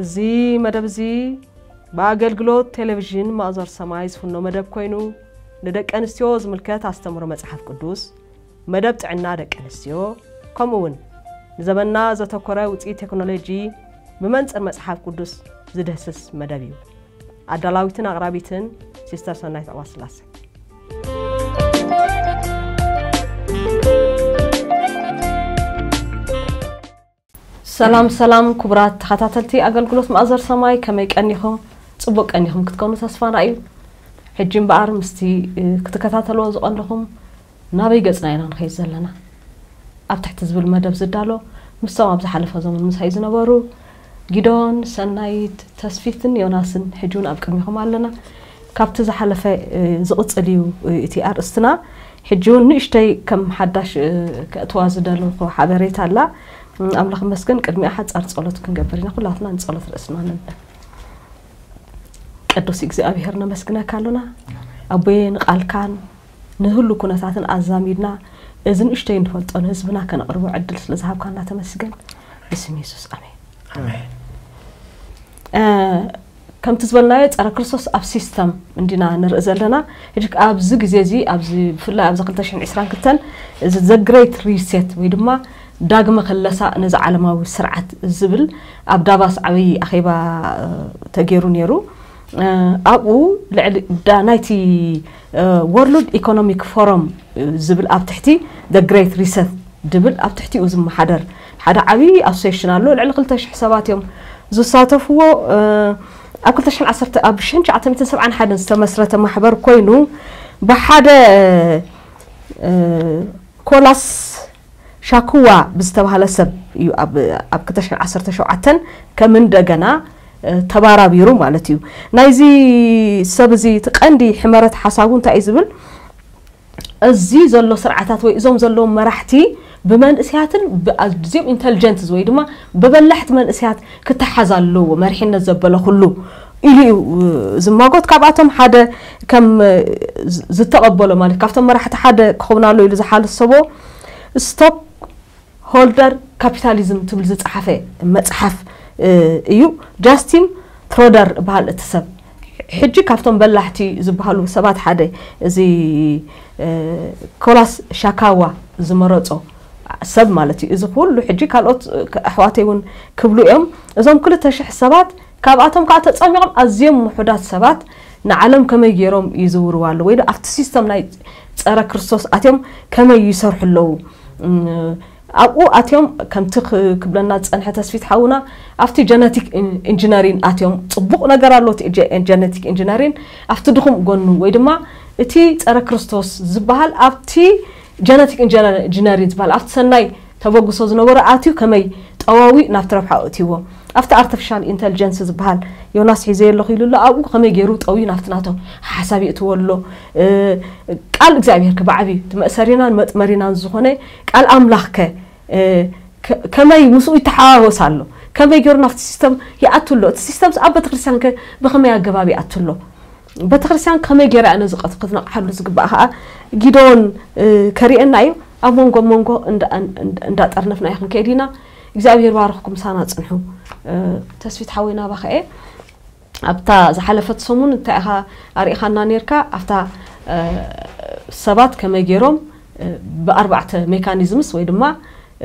እዚ መደብ እዚ ብኣገልግሎት ቴሌቪዥን ማእዞር ሰማይ ዝፍኖ መደብ ኮይኑ፣ ንደቂ ኣንስትዮ ዝምልከት ኣስተምህሮ መጽሓፍ ቅዱስ፣ መደብ ጥዕና ደቂ ኣንስትዮ፣ ከምኡ እውን ንዘመንና ዘተኮረ ውፅኢት ቴክኖሎጂ ብመንፅር መጽሓፍ ቅዱስ ዝድህስስ መደብ እዩ። ኣዳላዊትን ኣቕራቢትን ሲስተር ሰናይት ዕቋስላሴ። ሰላም ሰላም፣ ክቡራት ተኸታተልቲ ኣገልግሎት ማእዘር ሰማይ፣ ከመይ ቀኒኹም? ጽቡቕ ቀኒኹም ክትኮኑ ተስፋና እዩ። ሕጂ እምበኣር ምስቲ፣ እ፣ ክትከታተልዎ ዝቐንኹም ናበይ ገጽና ኢና ንኸይድ ዘለና? ኣብ ትሕቲ ዝብል መደብ ዝዳሎ፣ ምስቶም ኣብ ዝሓለፈ ዘመን ምሳይ ዝነበሩ ጊዶን፣ ሰናይት፣ ተስፊትን ዮናስን ሕጂ እውን ኣብ ቅድሚኹም ኣለና። ካብቲ ዝሓለፈ፣ እ፣ ዝቕጽል እዩ፣ እ፣ እቲ ኣርእስትና። ሕጂ እውን ንእሽተይ ከም ሓዳሽ፣ እ፣ ከእትዋ ዝደለኹ ሓበሬታ ኣላ። እ፣ ኣምላኽ ይመስገን፣ ቅድሚኣ ሓጻር ጸሎት ክንገብር ኢና። ኩላትና ንጸሎት ርእስና ንንበር። ቅዱስ እግዚኣብሔር ነመስግነካ ኣሎና። ኣቦየ፣ ንቓልካን ንህሉ ኩነታትን ኣዛሚድና እዚ ንእሽተይ እንፈልጦ ንህዝብና ከነቕርቦ ዕድል ስለ ዝሃብካና ተመስገን። ብስም የሱስ፣ ኣሜን። ኣሜን። እ፣ ከምቲ ዝበልናዮ፣ ጸረ ክርስቶስ ኣብ ሲስተም እንዲና ንርኢ ዘለና። ሕጂ ኣብዚ ግዜ እዚ፣ ኣብዚ፣ ብፍላይ ኣብዚ ክልተ ሽሕን ዕስራን ክልተን፣ እዚ ዘ ግሬት ሪሴት ወይ ድማ ዳግመ ክለሳ ነዚ ዓለማዊ ስርዓት ዝብል ኣብ ዳቫስ ዓብዪ ኣኼባ፣ እ፣ ተገይሩ ነይሩ። እ፣ ኣብኡ ልዕሊ ዳ-፣ ናይቲ፣ እ፣ ወርልድ ኢኮኖሚክ ፎረም፣ እ፣ ዝብል ኣብ ትሕቲ ዘ ግሬት ሪሰት ድብል ኣብ ትሕቲኡ ዝመሓደር ሓደ ዓብዪ ኣሶሴሽን ኣሎ። ልዕሊ ክልተ ሽሕ ሰባት እዮም ዝሳተፍዎ። እ፣ ኣብ ክልተ ሽሕን ዓሰርተ፣ ኣብ ሽሕን ትሽዓተ ሚእትን ሰብዓን ሓደን ዝተመስረተ ማሕበር ኮይኑ፣ ብሓደ፣ እ፣ ኮላስ ሻኩዋ ብዝተባሃለ ሰብ እዩ ኣብ፣ ኣብ ክልተ ሽሕን ዓሰርተ ሸውዓተን ከም እንደገና፣ እ፣ ተባራቢሩ ማለት እዩ። ናይዚ ሰብ እዚ እቲ ቀንዲ ሕመረት ሓሳቡ እንታይ እዩ ዝብል? እዚ ዘሎ ስርዓታት ወይ እዞም ዘለዉ መራሕቲ ብመንእሰያትን ብኣዝዮም ኢንተልጀንትስ ወይ ድማ ብበላሕቲ መንእሰያት ክተሓዝ ኣለዎ፣ መሪሕነት ዘበለ ኩሉ ኢሉ እዩ ዝማጎት። ካብኣቶም ሓደ ከም ዝ-፣ ዝተቐበሎ ማለት ካብቶም መራሕቲ ሓደ ክኸውን ኣሎ ኢሉ ዝሓሰቦ ስቶክ ሆልደር ካፒታሊዝም ትብል ዝጸሓፈ መጽሓፍ፣ እ፣ እዩ። ጃስቲን ትሮደር በሃል እቲ ሰብ። ሕጂ ካብቶም በላሕቲ ዝበሃሉ ሰባት ሓደ እዚ፣ እ፣ ኮላስ ሻካዋ ዝመረጾ ሰብ ማለት እዩ። እዚ ኩሉ ሕጂ ካልኦት፣ እ፣ ኣሕዋተይ እውን ክብሉ እዮም። እዞም ክልተ ሽሕ ሰባት ካብኣቶም ከዓ ተጸሚቖም ኣዝዮም ውሑዳት ሰባት ንዓለም ከመይ ገይሮም ይዝውርዋ ኣለዉ ወይ ዶ ኣብቲ ሲስተም ናይ ጸረ ክርስቶስ ኣትዮም ከመይ ይሰርሑ ኣለዉ? እም፣ ኣብኡ ኣትዮም ከምቲ ክ-፣ ክብለና ዝጸንሐ ተስፊት ሓውና ኣብቲ ጀነቲክ ኢን-፣ ኢንጂነሪን ኣትዮም ጽቡቕ ነገር ኣሎ እቲ ጀ-፣ ጀነቲክ ኢንጂነሪን ኣብቲ ድኹም ጎኑ ወይ ድማ እቲ ጸረ ክርስቶስ ዝበሃል ኣብቲ ጀነቲክ ኢንጂነር-፣ ኢንጂነሪን ዝበሃል ኣብቲ ሰናይ ተበግሶ ዝነበሮ ኣትዩ ከመይ ጠዋዊ ናብቲ ረብሓ እትይዎ ኣብቲ ኣርቲፊሻል ኢንተልጀንስ ዝበሃል ዮናስ ሒዘ ኣለኹ ኢሉ ኣሎ። ኣብኡ ከመይ ገይሩ ጠውዩ ናብቲ ናቶም ሓሳብ የእትዎ ኣሎ? እ፣ ቃል እግዚኣብሔር ከ ብዓብዩ እቲ መእሰሪናን መጥመሪናን ዝኾነ ቃል ኣምላኽ ከ፣ እ፣ ከ-፣ ከመይ ምስኡ ይተሓዋወስ ኣሎ? ከመይ ገይሩ ናብቲ ሲስተም ይኣቱ ኣሎ? እቲ ሲስተም ኣብ ቤተክርስትያን ከ ብኸመይ ኣገባብ ይኣቱ ኣሎ? ቤተክርስትያን ከመይ ገይራ እያ ነዚ ቀት-፣ ክትነቕሓሉ ዝግባእ ከዓ ጊዶን፣ እ፣ ከርእየና እዩ። ኣብ መንጎ መንጎ እንዳ-፣ እንዳ-፣ እንዳጠርነፍና እዩ ክንከይድ ኢና። እግዚኣብሔር ባርኽኩም፣ ምሳና ጽንሑ። እ፣ ተስፊት ሓወይ ናባኻ እየ። ኣብታ ዝሓለፈት ሰሙን እንታይ ኢኻ ኣርኢኻና ነርካ? ኣብታ፣ እ፣ ሰባት ከመይ ገይሮም፣ እ፣ ብኣርባዕተ ሜካኒዝምስ ወይ ድማ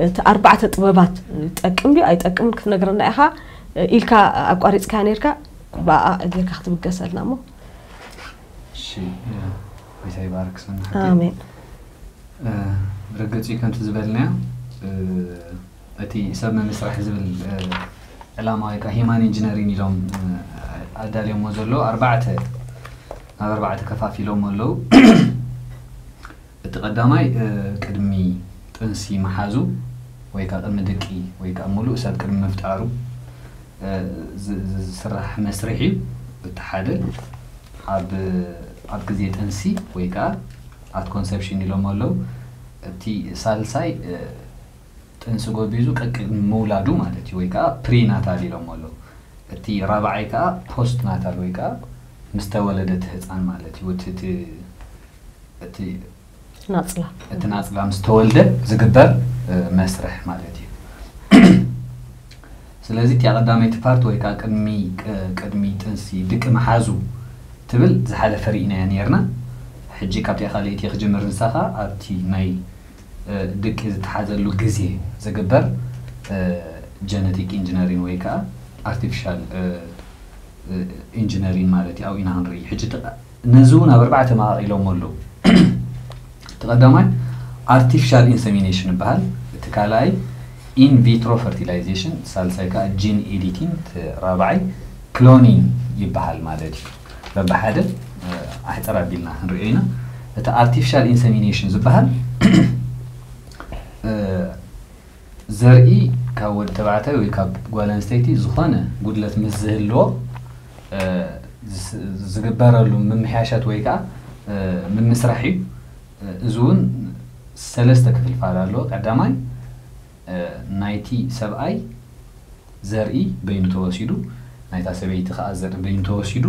እቲ ኣርባዕተ ጥበባት ይጠቅም ድዩ ኣይጠቅምን ክትነግረና ኢኻ፣ እ፣ ኢልካ ኣቋሪጽካ ነርካ። ብኣ ጌርካ ክትብገሰልና እሞ። እሺ፣ እ፣ ጎይታ ይባርክ ሰናይ ሓቂ። ኣሜን። እ፣ ብርግጽ እዩ ከምቲ ዝበልናዮ፣ እ፣ እቲ ሰብ መመስራሕ ዝብል፣ እ፣ ዕላማ ወይ ከዓ ሂማን ኢንጂነሪን ኢሎም፣ እ፣ ኣዳልዮሞ ዘለዉ ኣርባዕተ፣ ናብ ኣርባዕተ ከፋፊሎም ኣለዉ። እቲ ቀዳማይ፣ እ፣ ቅድሚ ጥንሲ ምሓዙ ወይ ከዓ ቅድሚ ድቂ ወይ ከዓ ሙሉእ ሰብ ቅድሚ ምፍጣሩ፣ እ፣ ዝ-፣ ዝ-፣ ዝስራሕ መስርሕ እዩ። እቲ ሓደ ኣብ፣ ኣብ ግዜ ጥንሲ ወይ ከዓ ኣት ኮንሰፕሽን ኢሎም ኣለዉ። እቲ ሳልሳይ፣ እ፣ ጥንሲ ጎቢዙ ቀቅድሚ ምውላዱ ማለት እዩ፣ ወይ ከዓ ፕሪናታል ኢሎም ኣለዉ። እቲ ራብዓይ ከዓ ፖስት ናታል ወይ ከዓ ምስ ተወለደ እቲ ህፃን ማለት እዩ። እቲ፣ እቲ፣ እቲ ናጽላ። እቲ ናጽላ ምስ ተወልደ ዝግበር፣ እ፣ መስርሕ ማለት እዩ። ስለዚ እቲኣ ቀዳመይቲ ፓርት ወይ ከዓ ቅድሚ ቅድሚ ጥንሲ ድቂ መሓዙ ትብል ዝሓለፈ ርኢናያ ነርና። ሕጂ ካብቲኣ ካልኣይቲ ክጅምር ንሳኻ ኣብቲ ናይ ድቂ ዝተሓዘሉ ግዜ ዝግበር ጀነቲክ ኢንጂነሪን ወይ ከዓ ኣርቲፊሻል ኢንጂነሪን ማለት እዩ። ኣብኡ ኢና ክንርኢ። ሕጂ ነዚ እውን ኣብ ኣርባዕተ መቓቒሎሞ ኣለዉ። እቲ ቀዳማይ ኣርቲፊሻል ኢንሰሚኔሽን ይበሃል። እቲ ካልኣይ ኢንቪትሮ ፈርቲላይዜሽን፣ ሳልሳይ ከዓ ጂን ኤዲቲንግ፣ እቲ ራብዓይ ክሎኒንግ ይበሃል ማለት እዩ። በብሓደ ኣሕፅር ኣቢልና ክንሪኦ ኢና። እቲ ኣርቲፊሻል ኢንሰሚኔሽን ዝበሃል ዘርኢ ካብ ወዲ ተባዕታይ ወይ ካብ ጓል ኣንስተይቲ ዝኾነ ጉድለት ምስ ዝህልዎ ዝግበረሉ ምምሕያሻት ወይ ከዓ ምምስራሕ እዩ። እዚ እውን ሰለስተ ክፍልፋል ኣለዎ። ቀዳማይ ናይቲ ሰብኣይ ዘርኢ በይኑ ተወሲዱ፣ ናይታ ሰበይቲ ከዓ ዘርኢ በይኑ ተወሲዱ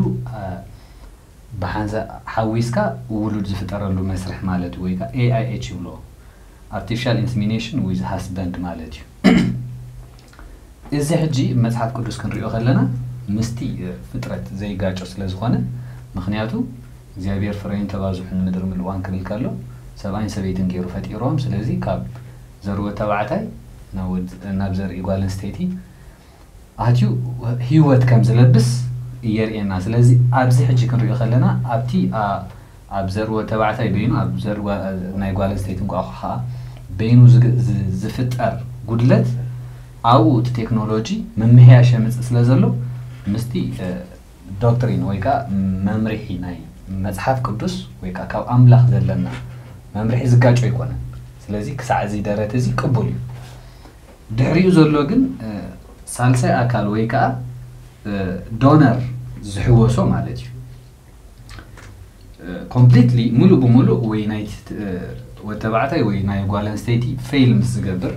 ብሓንሳ ሓዊስካ ውሉድ ዝፍጠረሉ መስርሕ ማለት እዩ። ወይ ከዓ ኤ ኣይ ኤች ይብሎ፣ ኣርቲፊሻል ኢንሰሚኔሽን ዊዝ ሃስበንድ ማለት እዩ። እዚ ሕጂ መፅሓፍ ቅዱስ ክንሪኦ ከለና ምስቲ ፍጥረት ዘይጋጮ ስለ ዝኾነ፣ ምክንያቱ እግዚኣብሔር ፍረይን ተባዝሑን ምድሪ ምልእዋን ክብል ከሎ ሰብኣይን ሰበይትን ገይሩ ፈጢሮም። ስለዚ ካብ ዘርወ ተባዕታይ ናብ ዘርኢ ጓል ኣንስተይቲ ኣትዩ ህይወት ከም ዝለብስ እየርእየና። ስለዚ ኣብዚ ሕጂ ክንሪኦ ከለና ኣብቲ ኣብ ዘርወ ተባዕታይ በይኑ ኣብ ዘርወ ናይ ጓል ኣንስተይቲ እንቋቑ ከዓ በይኑ ዝፍጠር ጉድለት ኣብኡ እቲ ቴክኖሎጂ ምምሕያሽ የምፅእ ስለ ዘሎ ምስቲ ዶክትሪን ወይ ከዓ መምርሒ ናይ መፅሓፍ ቅዱስ ወይ ከዓ ካብ ኣምላኽ ዘለና መምርሒ ዝጋጮ ኣይኮነን። ስለዚ ክሳዕ እዚ ደረት እዚ ቅቡል እዩ። ድሕሪኡ ዘሎ ግን ሳልሳይ ኣካል ወይ ከዓ ዶነር ዝሕወሶ ማለት እዩ። ኮምፕሊትሊ ሙሉእ ብሙሉእ ወይ ናይ ወዲ ተባዕታይ ወይ ናይ ጓል ኣንስተይቲ ፌል ምስ ዝገብር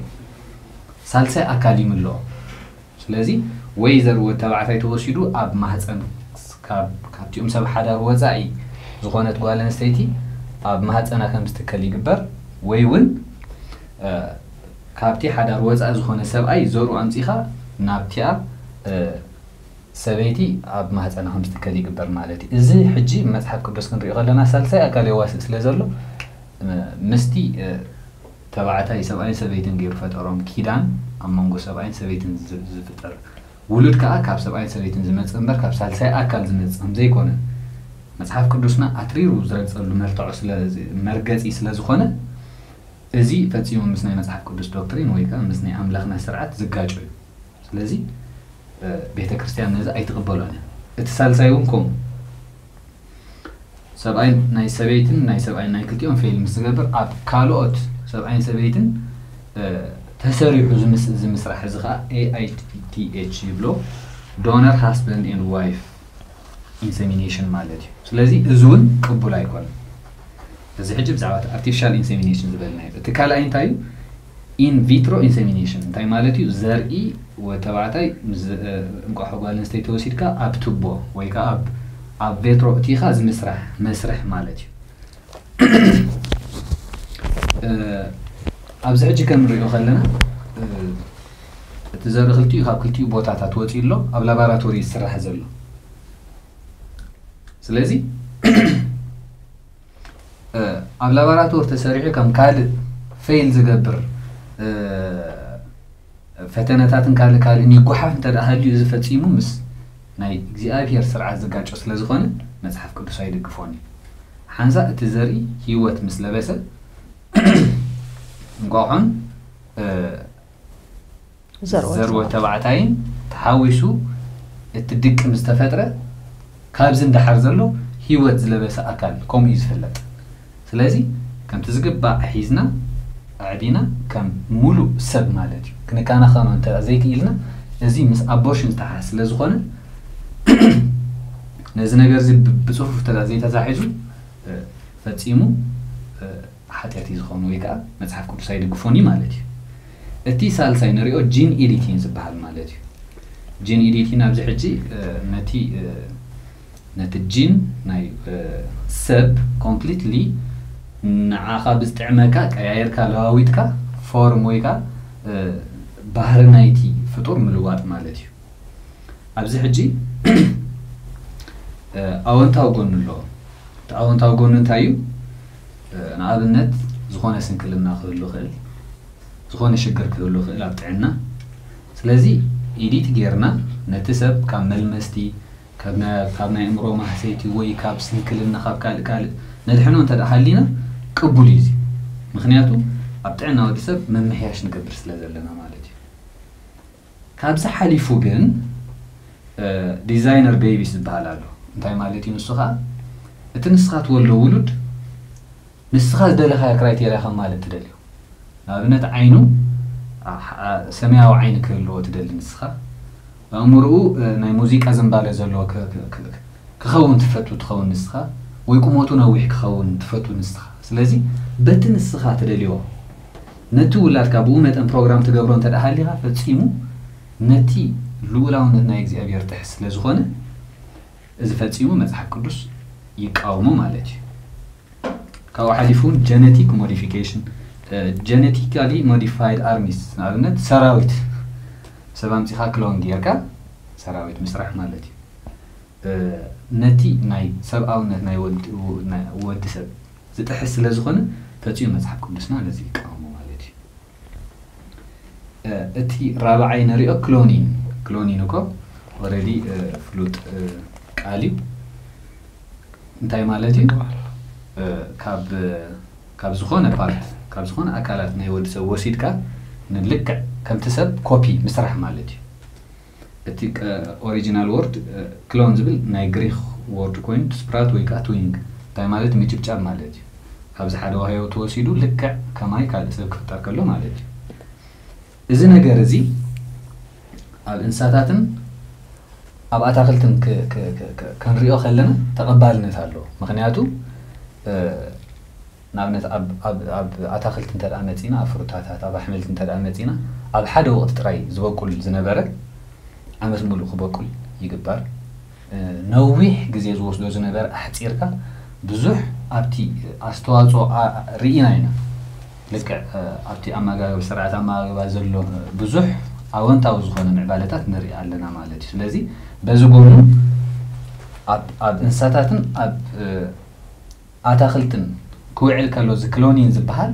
ሳልሳይ ኣካል ይምልኦ። ስለዚ ወይ ዘር ወዲ ተባዕታይ ተወሲዱ ኣብ ማህፀን ካብቲኦም ሰብ ሓዳር ወፃኢ ዝኾነት ጓል ኣንስተይቲ ኣብ ማህፀና ከም ዝትከል ይግበር፣ ወይ እውን ካብቲ ሓዳር ወፃኢ ዝኾነ ሰብኣይ ዘርኡ ኣምፂኻ ናብቲኣ ሰበይቲ ኣብ ማህፀና ከም ዝትከል ይግበር ማለት እዩ። እዚ ሕጂ መፅሓፍ ቅዱስ ክንሪኦ ከለና ሳልሳይ ኣካል የዋስእ ስለ ዘሎ ምስቲ ተባዕታይ ሰብኣይን ሰበይትን ገይሩ ፈጠሮም ኪዳን ኣብ መንጎ ሰብኣይን ሰበይትን ዝፍጠር ውሉድ ከዓ ካብ ሰብኣይን ሰበይትን ዝመፅእ እምበር ካብ ሳልሳይ ኣካል ዝመፅእ ከም ዘይኮነ መፅሓፍ ቅዱስና ኣትሪሩ ዝረግፀሉ መርትዖ መርገፂ ስለ ዝኾነ እዚ ፈፂሙ ምስ ናይ መፅሓፍ ቅዱስ ዶክትሪን ወይ ከዓ ምስ ናይ ኣምላኽና ስርዓት ዝጋጮ እዩ። ስለዚ ቤተ ክርስቲያን ነዚ ኣይትቕበሎን እያ። እቲ ሳልሳይ እውን ከምኡ ሰብኣይ ናይ ሰበይትን ናይ ሰብኣይ ናይ ክልቲኦም ፌል ምስ ዝገብር ኣብ ካልኦት ሰብኣይን ሰበይትን ተሰሪሑ ዝምስራሕ እዚ ከዓ ኤ ኣይ ቲ ኤች ይብሎ፣ ዶነር ሃስበንድ ኤንድ ዋይፍ ኢንሰሚኔሽን ማለት እዩ። ስለዚ እዚ እውን ቅቡል ኣይኮነን። እዚ ሕጂ ብዛዕባ ኣርቲፊሻል ኢንሰሚኔሽን ዝበልናዮ እቲ ካልኣይ እንታይ እዩ? ኢንቪትሮ ኢንሰሚኔሽን እንታይ ማለት እዩ? ዘርኢ ወዲ ተባዕታይ እንቋሖ ጓል ኣንስተይቲ ወሲድካ ኣብ ቱቦ ወይ ከዓ ኣብ ቬትሮ እቲኻ ዝምስራሕ መስርሕ ማለት እዩ። ኣብዚ ሕጂ ከም ንሪኦ ከለና እቲ ዘርኢ ክልቲኡ ካብ ክልቲኡ ቦታታት ወፂኡ ኣሎ ኣብ ላባራቶሪ ዝስራሕ ዘሎ። ስለዚ ኣብ ላባራቶሪ ተሰሪሑ ከም ካልእ ፌል ዝገብር ፈተነታትን ካልእ ካልእን ይጓሓፍ እንተ ደኣ ሃልዩ እዚ ፈጺሙ ምስ ናይ እግዚኣብሔር ስርዓት ዝጋጮ ስለ ዝኾነ መጽሓፍ ቅዱስ ኣይድግፎን እዩ። ሓንሳእ እቲ ዘርኢ ህይወት ምስ ለበሰ እንቋቑሖን ዘርወ ተባዕታይን ተሓዊሱ እቲ ድቂ ምስ ተፈጥረ ካብዚ እንዳሓር ዘሎ ህይወት ዝለበሰ ኣካል ከምኡ እዩ ዝፍለጥ። ስለዚ ከምቲ ዝግባእ ሒዝና ኣዕቢና ከም ሙሉእ ሰብ ማለት እዩ ክንከናኸኖ እንተ ዘይክኢልና እዚ ምስ ኣቦርሽን ዝተሓሓዝ ስለ ዝኾነ ነዚ ነገር እዚ ብፅፉፍ እንተ ዘይተታሒዙ ፈፂሙ ሓጢኣት እዩ ዝኾኑ ወይ ከዓ መፅሓፍ ቅዱስ ኣይድግፎን እዩ ማለት እዩ። እቲ ሳልሳይ ንሪኦ ጂን ኤዲቲን ዝበሃል ማለት እዩ። ጂን ኤዲቲን ኣብዚ ሕጂ ነቲ ነቲ ጂን ናይ ሰብ ኮምፕሊትሊ ንዓኻ ብዝጥዕመካ ቀያየርካ ለዋዊጥካ ፎርም ወይ ከዓ ባህሪ ናይቲ ፍጡር ምልዋጥ ማለት እዩ። ኣብዚ ሕጂ ኣወንታዊ ጎኑ ኣለዎ። እቲ ኣወንታዊ ጎኑ እንታይ እዩ? ንኣብነት ዝኾነ ስንክልና ክህሉ ይኽእል፣ ዝኾነ ሽግር ክህሉ ይኽእል ኣብ ጥዕና። ስለዚ ኢዲት ጌርና ነቲ ሰብ ካብ መልመስቲ፣ ካብ ናይ ኣእምሮ ማህሰይቲ ወይ ካብ ስንክልና፣ ካብ ካልእ ካልእ ነድሕኖ እንተ ደኣ ሃሊና ቅቡል እዩ እዚ። ምኽንያቱ ኣብ ጥዕና ወዲ ሰብ ምምሕያሽ ንገብር ስለ ዘለና ማለት እዩ። ካብዚ ሓሊፉ ግን ዲዛይነር ቤቢስ ዝበሃል ኣሎ። እንታይ ማለት እዩ ንሱ ኸዓ? እቲ ንስኻ ትወልዶ ውሉድ ንስኻ ዝደለኻዮ ክራይቴርያ ከም ማለት ትደልዮ። ንኣብነት ዓይኑ ሰማያዊ ዓይኒ ክህልዎ ትደሊ ንስኻ። ኣእምርኡ ናይ ሙዚቃ ዝንባለ ዘለዎ ክኸውን ትፈቱ ትኸውን ንስኻ፣ ወይ ቁመቱ ነዊሕ ክኸውን ትፈቱ ንስኻ። ስለዚ በቲ ንስኻ ትደልዮ ነቲ ውላድካ ብኡ መጠን ፕሮግራም ትገብሮ እንተ ደኣ ሃሊኻ ፈጺሙ ነቲ ልኡላውነት ናይ እግዚኣብሔር ጥሕስ ስለ ዝኾነ እዚ ፈጺሙ መጽሓፍ ቅዱስ ይቃወሞ ማለት እዩ። ካብኡ ሓሊፉ እውን ጀነቲክ ሞዲፊኬሽን፣ ጀነቲካሊ ሞዲፋይድ ኣርሚስ፣ ንኣብነት ሰራዊት ሰብ ኣምጺኻ ክሎን ጌርካ ሰራዊት ምስራሕ ማለት እዩ። ነቲ ናይ ሰብኣውነት ናይ ወዲ ሰብ ዝጥሕስ ስለ ዝኾነ ፈጺሙ መጽሓፍ ቅዱስና ነዚ ይቃወሞ ማለት እዩ። እቲ ራብዓይ ንሪኦ ክሎኒን። ክሎኒን እኮ ኦረዲ ፍሉጥ ቃል እዩ። እንታይ ማለት እዩ? ካብ ካብ ዝኾነ ፓርት፣ ካብ ዝኾነ ኣካላት ናይ ወዲ ሰብ ወሲድካ ንልክዕ ከምቲ ሰብ ኮፒ ምስራሕ ማለት እዩ። እቲ ኦሪጂናል ወርድ ክሎን ዝብል ናይ ግሪክ ወርድ ኮይኑ ትስፕራት ወይ ከዓ ትዊንግ እንታይ ማለት ምጭብጫብ ማለት እዩ። ካብዚ ሓደ ዋህዮ ተወሲዱ ልክዕ ከማይ ካልእ ሰብ ክፍጠር ከሎ ማለት እዩ። እዚ ነገር እዚ ኣብ እንስሳታትን ኣብ ኣታክልትን ክንሪኦ ከለና ተቐባልነት ኣለዎ። ምክንያቱ ንኣብነት ኣብ ኣታክልቲ እንተ መፂና፣ ኣብ ፍሩታታት፣ ኣብ ኣሕምልቲ እንተ መፂና፣ ኣብ ሓደ ወቕቲ ጥራይ ዝበቁል ዝነበረ ዓመት ሙሉእ ክበቁል ይግበር። ነዊሕ ግዜ ዝወስዶ ዝነበረ ኣሕፂርካ ብዙሕ ኣብቲ ኣስተዋፅኦ ርኢና ኢና። ልክዕ ኣብቲ ኣመጋግብ ስርዓት ኣመጋግባ ዘሎ ብዙሕ ኣወንታዊ ዝኾነ ምዕባለታት ንርኢ ኣለና ማለት እዩ። ስለዚ በዚ ጎኑ ኣብ እንስሳታትን ኣብ ኣታክልትን ክውዕል ከሎ እዚ ክሎኒን ዝበሃል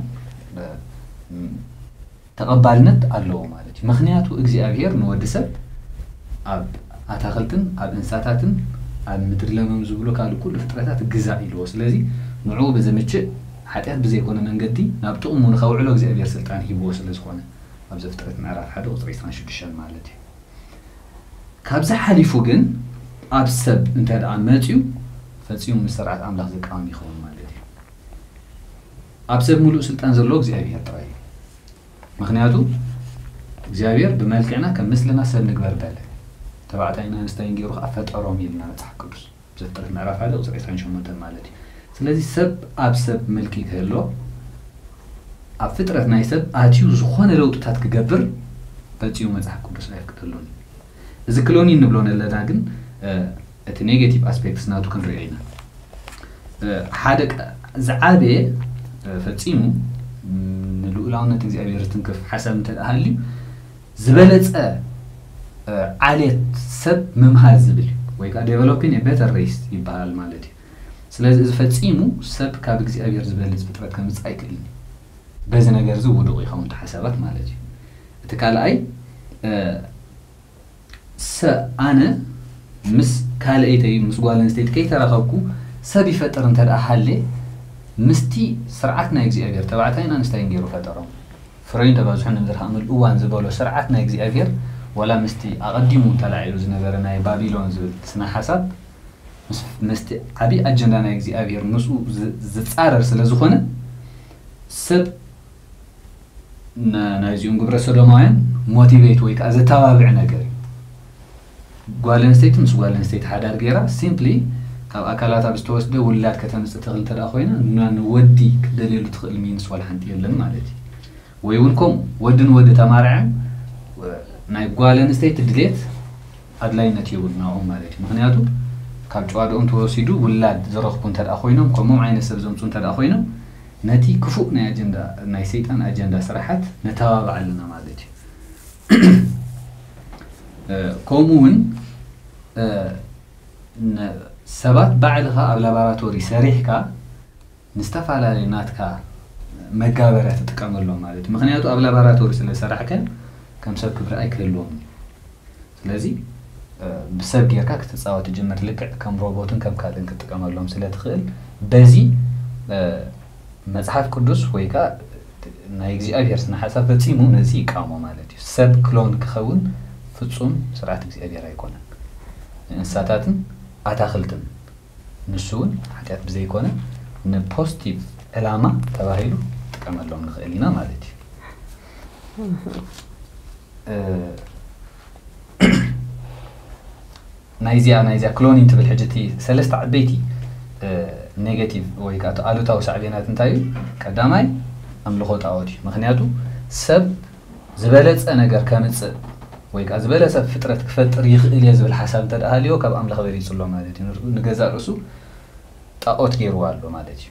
ተቐባልነት ኣለዎ ማለት እዩ። ምክንያቱ እግዚኣብሔር ንወዲ ሰብ ኣብ ኣታክልትን ኣብ እንስሳታትን ኣብ ምድሪ ለምለም ዝብሉ ካልእ ኩሉ ፍጥረታት ግዛእ ኢልዎ። ስለዚ ንዕኡ ብዝምችእ ሓጢኣት ብዘይኮነ መንገዲ ናብ ጥቕሙ ንኸውዕሎ እግዚኣብሔር ስልጣን ሂብዎ ስለ ዝኾነ ኣብ ዘፍጥረት ምዕራፍ ሓደ ቁፅሪ ዕስራን ሽዱሽተን ማለት እዩ። ካብዚ ሓሊፉ ግን ኣብ ሰብ እንተ ደኣ መፅዩ ፈፂሙ ምስ ስርዓት ኣምላኽ ዝቃወም ይኸውን ማለት እዩ። ኣብ ሰብ ሙሉእ ስልጣን ዘለዎ እግዚኣብሔር ጥራይ እዩ። ምክንያቱ እግዚኣብሔር ብመልክዕና ከም ምስልና ሰብ ንግበር በለ። ተባዕታይን ኣንስታይን ገይሩ ከዓ ፈጠሮም ኢልና መፅሓፍ ቅዱስ ዘፍጥረት ምዕራፍ ሓደ ቁፅሪ ዕስራን ሸሞንተን ማለት እዩ። ስለዚ ሰብ ኣብ ሰብ ምልኪ ክህሎ ኣብ ፍጥረት ናይ ሰብ ኣትዩ ዝኾነ ለውጥታት ክገብር ፈፂሙ መፅሓፍ ቅዱስ ኣይፍቅደሉን። እዚ ክሎኒ እንብሎ ዘለና ግን እቲ ኔጌቲቭ ኣስፔክትስ ናቱ ክንሪኦ ኢና። ሓደ ዝዓበየ ፈፂሙ ንልኡላውነት እግዚኣብሔር ዝትንክፍ ሓሳብ እንተ ሃልዩ ዝበለፀ ዓሌት ሰብ ምምሃዝ ዝብል ወይ ከዓ ዴቨሎፒን ቤተር ሬስ ይበሃል ማለት እዩ። ስለዚ እዚ ፈፂሙ ሰብ ካብ እግዚኣብሔር ዝበልፅ ፍጥረት ከምፅእ ኣይክእልን እዩ። በዚ ነገር እዚ ውዱቕ ይኸውን ሓሳባት ማለት እዩ። እቲ ካልኣይ ሰ ኣነ ምስ ካልኣይተይ ምስ ጓል ኣንስተይቲ ከይተራኸብኩ ሰብ ይፈጥር እንተ ደኣ ሃለ ምስቲ ስርዓት ናይ እግዚኣብሔር ተባዕታይን ኣንስታይን ገይሩ ፈጠሮም። ፍረይን ተባዝሑ ንምድሪ ከኣምል እዋን ዝበሎ ስርዓት ናይ እግዚኣብሔር ዋላ ምስቲ ኣቐዲሙ ተላዒሉ ዝነበረ ናይ ባቢሎን ዝብል ስነ ሓሳብ ምስቲ ዓብዪ ኣጀንዳ ናይ እግዚኣብሔር ምስኡ ዝፃረር ስለ ዝኾነ ሰብ ናይዚኦም ግብረ ሰዶማውያን ሞቲቬት ወይ ከዓ ዘተባብዕ ነገር እዩ። ጓል ኣንስተይቲ ምስ ጓል ኣንስተይቲ ሓዳር ገይራ ሲምፕሊ ካብ ኣካላታ ብዝተወስደ ውላድ ከተምፅእ ትኽእል እንተ ኮይና ንወዲ ክትደልየሉ ትኽእል ሚንስ ዋላ ሓንቲ የለን ማለት እዩ። ወይ እውን ከምኡ ወዲ ንወዲ ተማርዐ ናይ ጓል ኣንስተይቲ ድሌት ኣድላይነት የብሉ ናኦም ማለት እዩ። ምክንያቱ ካብ ጨዋድኦም ተወሲዱ ውላድ ዝረኽቡ እንተ ኮይኖም ከምኦም ዓይነት ሰብ ዘምፁ እንተ ኮይኖም ነቲ ክፉእ ናይ ኣጀንዳ ናይ ሰይጣን ኣጀንዳ ስራሓት ነተባብዕ ኣለና ማለት እዩ። ከምኡ እውን ሰባት ባዕልኻ ኣብ ላባራቶሪ ሰሪሕካ ንዝተፈላለዩ ናትካ መጋበርያ ትጥቀመሎም ማለት እዩ። ምክንያቱ ኣብ ላባራቶሪ ስለ ሰራሕከ ከም ሰብ ክብሪ ኣይክህልዎም እዩ። ስለዚ ብሰብ ጌርካ ክትፃወት ትጅምር፣ ልክዕ ከም ሮቦትን ከም ካልእን ክትጥቀመሎም ስለ ትኽእል፣ በዚ መፅሓፍ ቅዱስ ወይ ከዓ ናይ እግዚኣብሔር ስነ ሓሳብ ፈፂሙ ነዚ ይቃወሞ ማለት እዩ። ሰብ ክሎን ክኸውን ፍፁም ስርዓት እግዚኣብሔር ኣይኮነን። ንእንስሳታትን ኣታኽልትን ንሱ እውን ሓጢኣት ብዘይኮነ ንፖዚቲቭ ዕላማ ተባሂሉ ጥቀመሎም ንኽእል ኢና ማለት እዩ። ናይዚኣ ናይዚኣ ክሎኒን ትብል ሕጂ እቲ ሰለስተ ዓበይቲ ኔጋቲቭ ወይ ከዓ ኣሉታዊ ሳዕቤናት እንታይ እዩ? ቀዳማይ ኣምልኾ ጣዖት እዩ። ምክንያቱ ሰብ ዝበለፀ ነገር ከምፅእ ወይ ከዓ ዝበለፀ ፍጥረት ክፈጥር ይኽእል እየ ዝብል ሓሳብ እንተ ደኣ ሃልዮ ካብ ኣምላኽ በሊፁ ኣሎ ማለት እዩ። ንገዛእ ርእሱ ጣዖት ገይርዎ ኣሎ ማለት እዩ።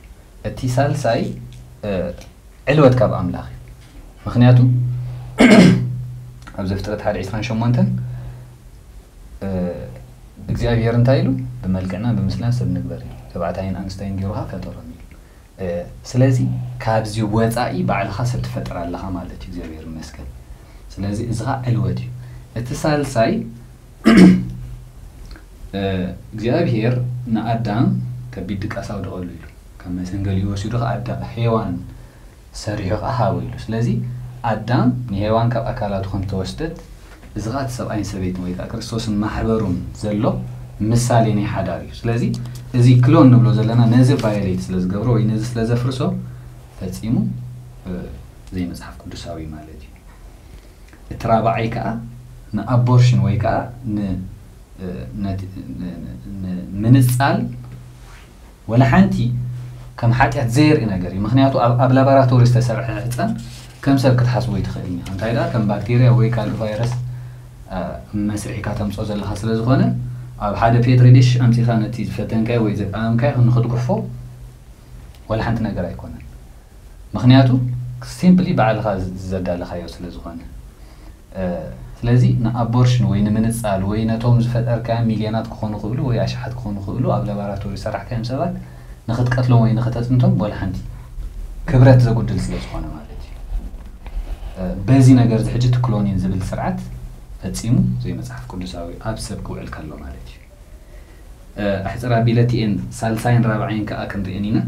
እቲ ሳልሳይ ዕልወት ካብ ኣምላኽ እዩ። ምክንያቱ ኣብ ዘፍጥረት ሓደ ዕስራን ሸሞንተን እግዚኣብሔር እንታይ ኢሉ? ብመልክዕና ብምስልና ሰብ ንግበር እዩ። ተባዕታይን ኣንስታይን ገይሩ ከዓ ፈጠሮም ኢሉ። ስለዚ ካብዚ ወፃኢ ባዕልኻ ሰብ ትፈጥር ኣለኻ ማለት እዩ። እግዚኣብሔር ይመስገን። ስለዚ እዚ ከዓ ዕልወት እዩ። እቲ ሳልሳይ እግዚኣብሔር ንኣዳም ከቢድ ድቃስ ኣውደቐሉ ኢሉ ካብ መሰንገሊኡ ወሲዱ ከዓ ኣዳ ሄዋን ሰሪሑ ከዓ ሃቦ ኢሉ። ስለዚ ኣዳም ንሄዋን ካብ ኣካላቱ ከም ተወስደት እዚ ከዓ እቲ ሰብኣይን ሰበይትን ወይ ከዓ ክርስቶስን ማሕበሩን ዘሎ ምሳሌ ናይ ሓዳር እዩ። ስለዚ እዚ ክሎን ንብሎ ዘለና ነዚ ቫዮሌት ስለ ዝገብሮ ወይ ነዚ ስለ ዘፍርሶ ፈፂሙ ዘይመፅሓፍ ቅዱሳዊ ማለት እዩ። እቲ ራብዓይ ከዓ ንኣቦርሽን ወይ ከዓ ንምንፃል ወላ ሓንቲ ከም ሓጢኣት ዘየርኢ ነገር እዩ። ምክንያቱ ኣብ ላባራቶሪ ዝተሰርሐ ሕፀን ከም ሰብ ክትሓስቦ ይትኽእል እ። እንታይ ደኣ ከም ባክቴርያ ወይ ካልእ ቫይረስ መስሪሕካ ተምፅኦ ዘለካ ስለ ዝኾነ ኣብ ሓደ ፔትሪ ዲሽ ኣምፂኻ ነቲ ዝፈተንካዮ ወይ ዘቃመምካዮ ንክትጉሕፎ ወላ ሓንቲ ነገር ኣይኮነን። ምክንያቱ ሲምፕሊ ባዕልኻ ዘዳለኻዮ ስለ ዝኾነ። ስለዚ ንኣቦርሽን ወይ ንምንፃል ወይ ነቶም ዝፈጠርካዮም ሚልዮናት ክኾኑ ክእሉ ወይ ኣሽሓት ክኾኑ ክእሉ ኣብ ላባራቶሪ ሰራሕካዮም ሰባት ንክትቀትሎም ወይ ንክተፅንቶም ወላ ሓንቲ ክብረት ዘጉድል ስለ ዝኾነ ማለት እዩ። በዚ ነገር እዚ ሕጂ እቲ ክሎኒን ዝብል ስርዓት ፈፂሙ ዘይመፅሓፍ ቅዱሳዊ ኣብ ሰብ ክውዕል ከሎ ማለት እዩ። ኣሕፅር ኣቢለ እቲኤን ሳልሳይን ራብዓይን ከዓ ክንርእን ኢና።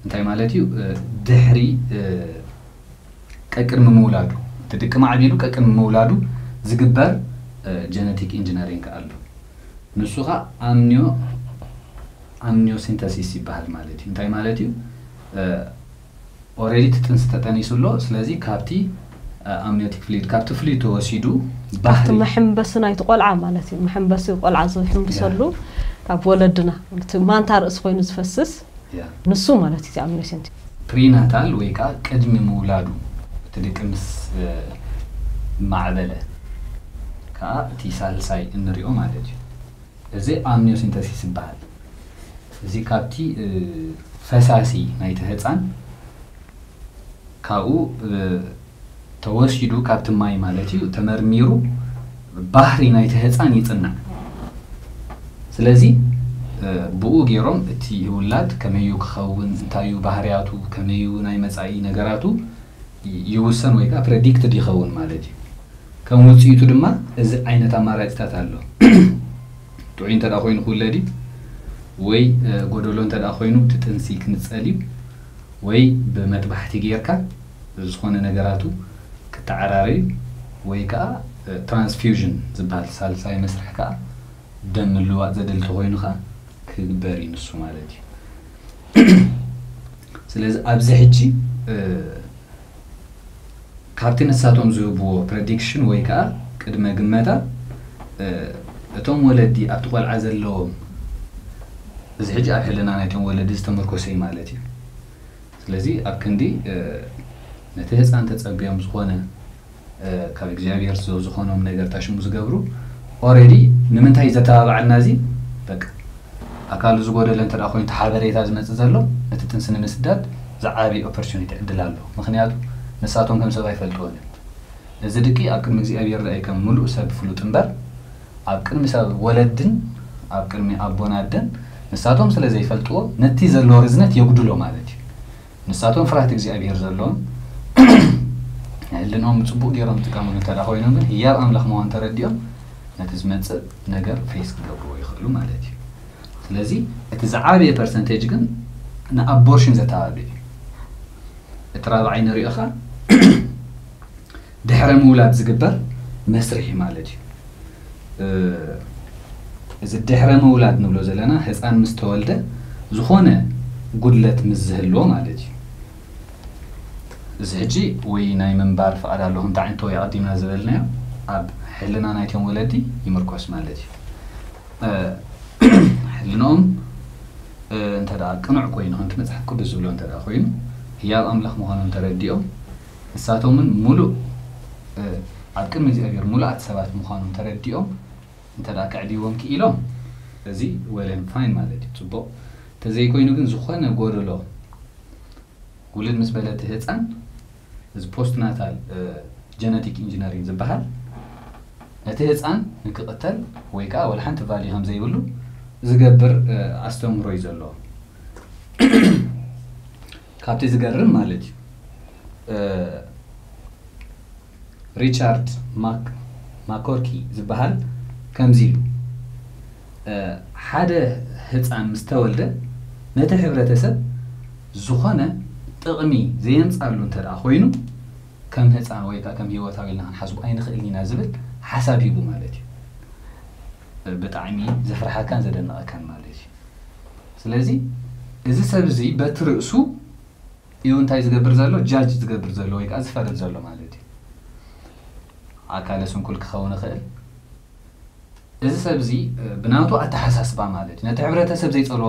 እንታይ ማለት እዩ? ድሕሪ ቀቅድሚ ምውላዱ እቲ ድቂ ማዕቢሉ ቀቅድሚ ምውላዱ ዝግበር ጀነቲክ ኢንጂነሪንግ ኣሎ። ንሱ ከዓ ኣምኒዮ ኣምኒዮሲንተሲስ ይበሃል ማለት እዩ። እንታይ ማለት እዩ? ኦረዲ እቲ ጥንሲ ተጠኒሱ ኣሎ። ስለዚ ካብቲ ኣምኒዮቲክ ፍሉድ ካብቲ ፍሉድ ተወሲዱ ካብቲ መሐንበሲ ናይቲ ቆልዓ ማለት እዩ። መሐንበሲ ቆልዓ ዝሕንብሰሉ ካብ ወለድና እቲ ማንታ ርእሲ ኮይኑ ዝፈስስ ንሱ ማለት እዩ ኣምኒዮሲንተሲስ። ፕሪናታል ወይ ከዓ ቅድሚ ምውላዱ እቲ ድቂ ምስ ማዕበለ ከዓ እቲ ሳልሳይ እንሪኦ ማለት እዩ። እዚ ኣምኒዮሲንተሲስ ይበሃል። እዚ ካብቲ ፈሳሲ ናይቲ ህፃን ካብኡ ተወሲዱ ካብቲ ማይ ማለት እዩ ተመርሚሩ ባህሪ ናይቲ ህፃን ይፅናዕ። ስለዚ ብኡ ገይሮም እቲ ውላድ ከመዩ ክኸውን፣ እንታዩ ባህርያቱ፣ ከመዩ ናይ መፃኢ ነገራቱ ይውሰን ወይ ከዓ ፕረዲክትድ ይኸውን ማለት እዩ። ከም ውፅኢቱ ድማ እዚ ዓይነት ኣማራፂታት ኣሎ። ጥዑይ እንተ ኮይኑ ክውለድ እዩ ወይ ጎደሎ እንተ ኮይኑ እቲ ጥንሲ ክንፀል እዩ ወይ ብመጥባሕቲ ጌርካ ዝኾነ ነገራቱ ክተዓራረዩ ወይ ከዓ ትራንስፊውዥን ዝበሃል ሳልሳይ መስርሕ ከዓ ደም ምልዋጥ ዘድሊ ተኮይኑ ከዓ ክግበር እዩ ንሱ ማለት እዩ። ስለዚ ኣብዚ ሕጂ ካብቲ ንሳቶም ዝህብዎ ፕረዲክሽን ወይ ከዓ ቅድመ ግመታ እቶም ወለዲ ኣብቲ ቆልዓ ዘለዎም እዚ ሕጂ ኣብ ሕልና ናይቶም ወለዲ ዝተመርኮሰ እዩ ማለት እዩ። ስለዚ ኣብ ክንዲ ነቲ ህፃን ተፀብዮም ዝኾነ ካብ እግዚኣብሔር ዝኾኖም ነገር ታሽሙ ዝገብሩ ኦረዲ ንምንታይ ዘተባብዓልና እዚ በቃ ኣካሉ ዝጎደለ እንተ ኮይኑ ሓበሬታ ዝመፅእ ዘሎ ነቲ ጥንሲ ንምስዳድ ዝዓበየ ኦፖርቹኒቲ ዕድል ኣሎ። ምክንያቱ ንሳቶም ከም ሰብ ኣይፈልጥዎን እዮም። እዚ ድቂ ኣብ ቅድሚ እግዚኣብሔር ርኣይ ከም ምሉእ ሰብ ፍሉጥ እምበር ኣብ ቅድሚ ሰብ ወለድን ኣብ ቅድሚ ኣቦን ኣደን ንሳቶም ስለ ዘይፈልጥዎ ነቲ ዘሎ ርዝነት የጉድሎ ማለት እዩ። ንሳቶም ፍርሃት እግዚኣብሔር ዘለዎም ሕልኖም ጽቡቕ ገይሮም ዝጥቀምሉ እንተ ደኣ ኮይኖም ግን ህያብ ኣምላኽ ምዃኑ ተረዲኦም ነቲ ዝመጽእ ነገር ፌስ ክገብርዎ ይኽእሉ ማለት እዩ። ስለዚ እቲ ዝዓበየ ፐርሰንቴጅ ግን ንኣቦርሽን ዘተባብዕ እዩ። እቲ ራብዓይ ንሪኦ ኸኣ ድሕረ ምውላድ ዝግበር መስርሒ ማለት እዩ። እዚ ድሕረ ምውላድ ንብሎ ዘለና ህፃን ምስ ተወልደ ዝኾነ ጉድለት ምስ ዝህልዎ ማለት እዩ። እዚ ሕጂ ወይ ናይ ምንባር ፍቓድ ኣለኹም እንታይ ዓይነት ወይ ኣቐዲምና ዝበልናዮ ኣብ ሕልና ናይቶም ወለዲ ይምርኮስ ማለት እዩ። ሕልንኦም እንተ ደኣ ቅኑዕ ኮይኑ ከምቲ መፅሓፍ ቅዱስ ዝብሎ እንተ ደኣ ኮይኑ ህያብ ኣምላኽ ምዃኖም ተረዲኦም ንሳቶምን ሙሉእ ኣብ ቅድሚ እግዚኣብሔር ሙሉኣት ሰባት ምዃኖም ተረዲኦም እንተ ደኣ ከዕልይዎም ክኢሎም እዚ well and fine ማለት እዩ፣ ፅቡቕ። እንተዘይኮይኑ ግን ዝኾነ ጎደሎ ውልድ ምስ በለ እቲ ህፃን እዚ ፖስት ናታል ጀነቲክ ኢንጂነሪንግ ዝበሃል ነቲ ህፃን ንክቕተል ወይ ከዓ ወላ ሓንቲ ቫልዩ ከም ዘይብሉ ዝገብር ኣስተምህሮ እዩ ዘለዎ። ካብቲ ዝገርም ማለት እዩ ሪቻርድ ማክ ማኮርኪ ዝበሃል ከምዚ ኢሉ ሓደ ህፃን ምስ ተወልደ ነቲ ሕብረተሰብ ዝኾነ ጥቕሚ ዘየምፃሉ እንተ ደኣ ኮይኑ ከም ህፃን ወይ ከዓ ከም ህይወታዊ ኢልና ክንሓስቡ ኣይንኽእልን ኢና ዝብል ሓሳብ ሂቡ ማለት እዩ። ብጣዕሚ ዘፍርሓካን ዘደንቐካን ማለት እዩ። ስለዚ እዚ ሰብ እዚ በቲ ርእሱ እዩ እንታይ ዝገብር ዘሎ? ጃጅ ዝገብር ዘሎ ወይ ከዓ ዝፈርድ ዘሎ ማለት እዩ። ኣካለ ስንኩል ክኸውን ይኽእል። እዚ ሰብ እዚ ብናቱ ኣተሓሳስባ ማለት እዩ ነቲ ሕብረተሰብ ዘይፀልዎ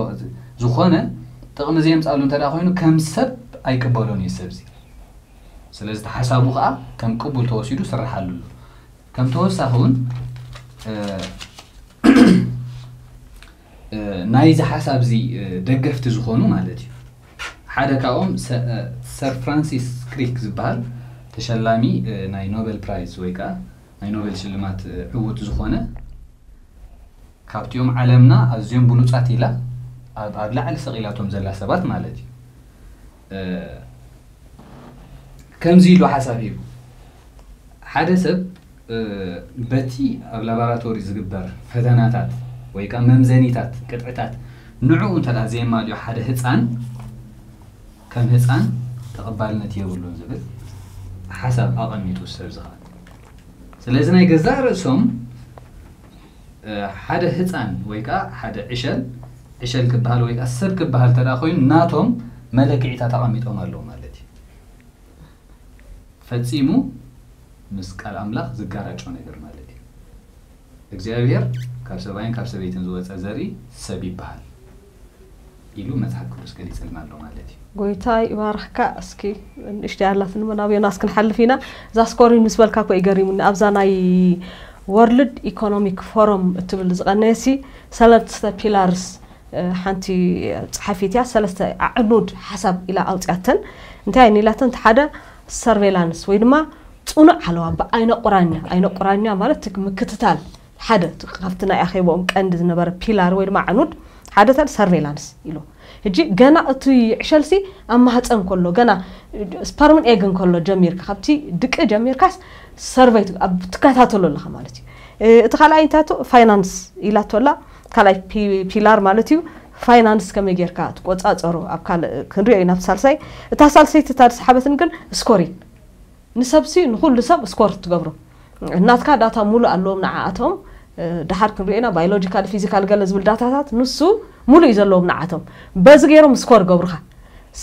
ዝኾነ ጥቕሚ ዘየምፃሉ እንተ ደኣ ኮይኑ ከም ሰብ ኣይቅበሎን እዩ ሰብ እዚ። ስለዚ እቲ ሓሳቡ ከዓ ከም ቅቡል ተወሲዱ ስርሓሉ ኣሎ። ከም ተወሳኺ እውን ናይዚ ሓሳብ እዚ ደገፍቲ ዝኾኑ ማለት እዩ ሓደ ካብኦም ሰር ፍራንሲስ ክሪክ ዝበሃል ተሸላሚ ናይ ኖበል ፕራይዝ ወይ ከዓ ናይ ኖበል ሽልማት ዕውት ዝኾነ ካብቲኦም ዓለምና ኣዝዮም ብሉፃት ኢላ ኣብ ላዕሊ ሰቒላቶም ዘላ ሰባት ማለት እዩ። ከምዚ ኢሉ ሓሳብ ሂቡ ሓደ ሰብ በቲ ኣብ ላባራቶሪ ዝግበር ፈተናታት ወይ ከዓ መምዘኒታት ቅጥዕታት ንዕኡ እንተ ዘየማልዮ ሓደ ህፃን ከም ህፃን ተቐባልነት የብሉን ዝብል ሓሳብ ኣቐሚጡ ሰብ ዝኸኣል። ስለዚ ናይ ገዛእ ርእሶም ሓደ ህፃን ወይ ከዓ ሓደ ዕሸል ዕሸል ክበሃል ወይ ከዓ ሰብ ክበሃል ተዳ ኮይኑ ናቶም መለክዒታት ኣቐሚጦም ኣለዉ ማለት እዩ። ፈፂሙ ምስ ቃል ኣምላኽ ዝጋራጮ ነገር ማለት እዩ። እግዚኣብሔር ካብ ሰብኣይን ካብ ሰበይትን ዝወፀ ዘርኢ ሰብ ይበሃል ኢሉ መፅሓፍ ቅዱስ ገሊፅልና ኣሎ ማለት እዩ። ጎይታ ይባርኽካ። እስኪ ንእሽተይ ኣላትኒ መናብዮና እስክንሓልፍ ኢና። እዛ ስኮሪን ምስ በልካ እኮ ይገሪሙኒ ኣብዛ ናይ ወርልድ ኢኮኖሚክ ፎረም እትብል ዝቐነየሲ ሰለስተ ፒላርስ ሓንቲ ፀሓፊት እያ ሰለስተ ኣዕኑድ ሓሳብ ኢላ ኣውፅያተን እንታይ እየን ኢላተን እቲ ሓደ ሰርቬላንስ ወይ ድማ ፅኑዕ ሓለዋ ብኣይነ ቁራኛ ኣይነ ቁራኛ ማለት ምክትታል ሓደ ካብቲ ናይ ኣኼቦኦም ቀንዲ ዝነበረ ፒላር ወይ ድማ ኣዕኑድ ሓደ ተን ሰርቬላንስ ኢሉ ሕጂ ገና እቲ ዕሸልሲ ኣብ ማህፀን ከሎ ገና ስፐርምን ኤግን ከሎ ጀሚርካ ካብቲ ድቂ ጀሚርካስ ሰርቨይ ትከታተሎ ኣለካ ማለት እዩ። እቲ ካልኣይ እንታይ ፋይናንስ ኢላቶ ኣላ ካልኣይ ፒላር ማለት እዩ። ፋይናንስ ከመይ ጌርካ ትቆፃፀሮ ኣብ ካልእ ክንሪኦ ኢና ኣብቲ ሳልሳይ። እታ ሳልሰይቲ እታ ዝሰሓበትን ግን ስኮሪን ንሰብሲ ንኩሉ ሰብ ስኮር ትገብሮ ናትካ ዳታ ሙሉእ ኣለዎም ንዓኣቶም። ድሓር ክንሪኦ ኢና ባዮሎጂካል ፊዚካል ገለ ዝብል ዳታታት ንሱ ሙሉእ እዩ ዘለዎም ንዓቶም። በዚ ገይሮም ስኮር ገብሩካ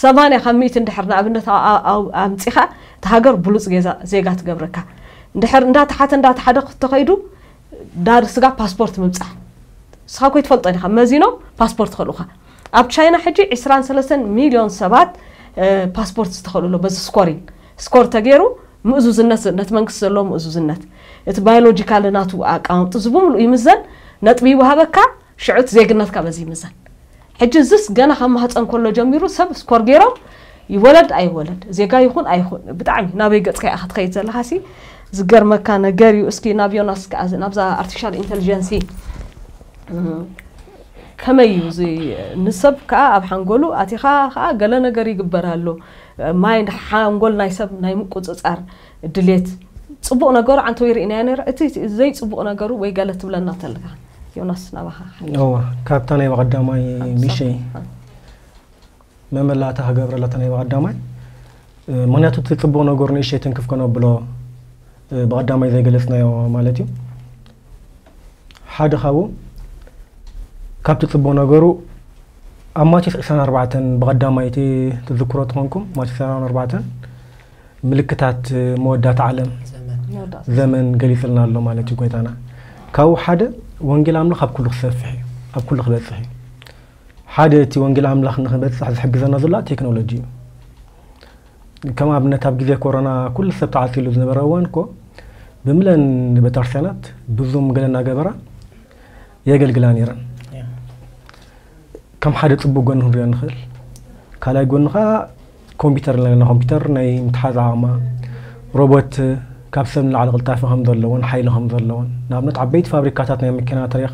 ሰማንያ ካብ ሚእቲ እንድሕር ንኣብነት ኣምፂኻ እቲ ሃገር ብሉፅ ዜጋ ትገብረካ። እንድሕር እንዳተሓተ እንዳተሓደ ተኸይዱ ዳር ስጋ ፓስፖርት ምብፃሕ ንስኻ ኮይ ትፈልጦ ዲኻ መዚኖም ፓስፖርት ከልኡኻ። ኣብ ቻይና ሕጂ ዕስራን ሰለስተን ሚልዮን ሰባት ፓስፖርት ዝተኸሉ ኣሎ በዚ ስኮሪን ስኮር ተገይሩ ምእዙዝነት ነቲ መንግስቲ ዘለዎ ምእዙዝነት እቲ ባዮሎጂካል ናቱ ኣቃማምጡ እዚ ብምሉእ ይምዘን ነጥቢ ይወሃበካ ሽዑት ዜግነትካ በዚ ይምዘን። ሕጂ እዝስ ገና ካብ ማህፀን ከሎ ጀሚሩ ሰብ ስኮር ገይሮም ይወለድ ኣይወለድ ዜጋ ይኹን ኣይኹን ብጣዕሚ ናበይ ገፅካ ኢኻ ትኸይድ ዘለኻሲ ዝገርመካ ነገር እዩ። እስኪ ናብ ዮናስ ከኣ፣ ናብዛ ኣርቲፊሻል ኢንተሊጀንሲ፣ እም፣ ከመይ እዩ እዚ? ንሰብ ከኣ ኣብ ሓንጎሉ ኣቲኻ ከኣ ገለ ነገር ይግበር ኣሎ። ማይንድ፣ ሓንጎል ናይ ሰብ ናይ ምቁጽጻር ድሌት፣ ጽቡቕ ነገሩ ዓንተው ይርኢናዮ ነይረ። እቲ ዘይጽቡቕ ነገሩ ወይ ገለ ትብለና ተለካ፣ ዮናስ፣ ናባኻ ሓይሽ። እዋ፣ ካብታ ናይ ብቐዳማይ ሓምሳ። ሚሸይ መመላእታ ክገብረላ እታ ናይ ብቐዳማይ፣ እ፣ ምኽንያቱ እቲ ጽቡቕ ነገሩ ንእሽተይ ትንክፍ ከነብሎ፣ እ፣ ብቐዳማይ ዘይገለጽናዮ ማለት እዩ። ሓደ ካብኡ፣ ካብቲ ጽቡቕ ነገሩ፣ ኣብ ማቴዎስ ዕስራን ኣርባዕተን ብቐዳማይቲ ትዝክሮ ተኾንኩም፣ ማቴዎስ ዕስራን ኣርባዕተን ምልክታት መወዳእታ ዓለም ዘመን። መወዳእታ። ዘመን ገሊጽልና ኣሎ ማለት እዩ ጎይታና። ካብኡ ሓደ፣ ወንጌል ኣምላኽ ኣብ ኩሉ ክሰፍሕ እዩ፣ ኣብ ኩሉ ክበጽሕ እዩ። ሓደ እቲ ወንጌል ኣምላኽ ንኽበጽሕ ዝሕግዘና ዘሎ ቴክኖሎጂ እዩ። ከም ኣብነት ኣብ ግዜ ኮሮና ኩሉ ሰብ ተዓጺሉ ዝነበረ እዋን እኮ ብምለን ቤተክርስትያናት ብዙም ገለ እናገበራ የገልግላ ነይረን። ያ። ከም ሓደ ጽቡቕ ጎኒ ክንሪኦ ንኽእል። ካልኣይ ጎኒ ኸኣ ኮምፒውተር ኣለና። ኮምፒውተር ናይ ምትሓዝ ዓቕማ፣ ሮቦት ካብ ሰብ ንላዕሊ ቅልጣፈ ከም ዘለዎን ሓይሊ ከም ዘለዎን። ንኣብነት ዓበይቲ ፋብሪካታት ናይ መኪና ተሪኻ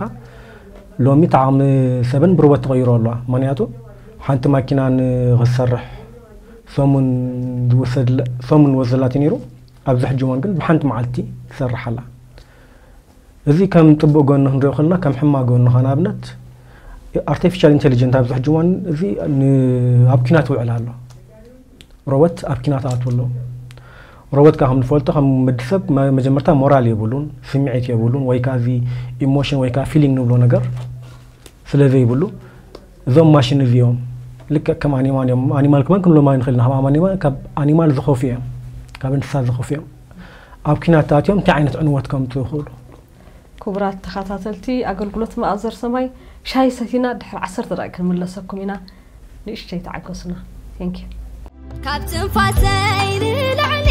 ሎሚ እቲ ዓቕሚ ሰበን ብሮቦት ተቐይሮ ኣለዋ። ምኽንያቱ ሓንቲ ማኪና ንኽትሰርሕ ሰሙን ዝወሰድላ፣ ሰሙን ዝወሰደላ ነይሩ፣ ኣብዚ ሕጂ እዋን ግን ብሓንቲ መዓልቲ ትሰርሕ ኣላ። እዚ ከም ጽቡቕ ጎኒ ክንሪኦ ከለና፣ ከም ሕማቕ ጎኒ ኸኣ ንኣብነት ኣርቲፊሻል ኢንተሊጀንት ኣብዚ ሕጂ እዋን እዚ ን-፣ ኣብ ኲናት ይውዕል ኣሎ። ሮቦት ኣብ ኲናት ኣትው ኣሎ። ሮቦት ከኣ ከም ንፈልጦ ከም ወዲ ሰብ መ-፣ መጀመርታ ሞራል የብሉን፣ ስምዒት የብሉን፣ ወይ ከኣ እዚ ኢሞሽን ወይ ከኣ ፊሊንግ ንብሎ ነገር ስለ ዘይብሉ፣ እዞም ማሽን እዚኦም ልክዕ ከም ኣኒማል እዮም። ኣኒማል ከማን ክንብሎም ኣይንኽእልን። ካብ ኣኒማል፣ ካብ ኣኒማል ዝኸፍኡ እዮም። ካብ እንስሳ ዝኸፍኡ እዮም። ኣብ ኲናት ኣትዮም እንታይ ዓይነት ዕንወት ከምጽኡ ይኽእሉ? ክቡራት ተኸታተልቲ ኣገልግሎት መኣዘር ሰማይ፣ ሻሂ ሰቲና ድሕሪ ዓሰርተ ደቂቕ ክንምለሰኩም ኢና። ንእሽተይ ተዓገሱና። Thank you። ካብ ትንፋሰይ ንላዕሊ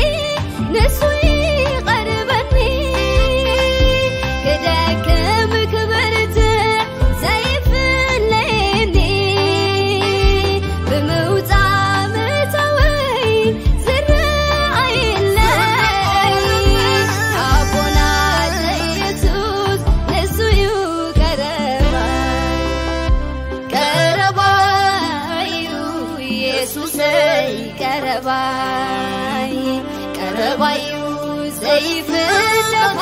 ንሱ ይቐርበኒ። ክደክም ክበርትዕ ዘይፍለየኒ። ብምውጻእ ምእታወይ ዝረኣየለይ። ኣቦና ዘየሱስ ንሱ እዩ ቀረባይ። ቀረባይ እዩ የሱሰይ፣ ቀረባይ፣ ቀረባይ እዩ ዘይፍለኻ።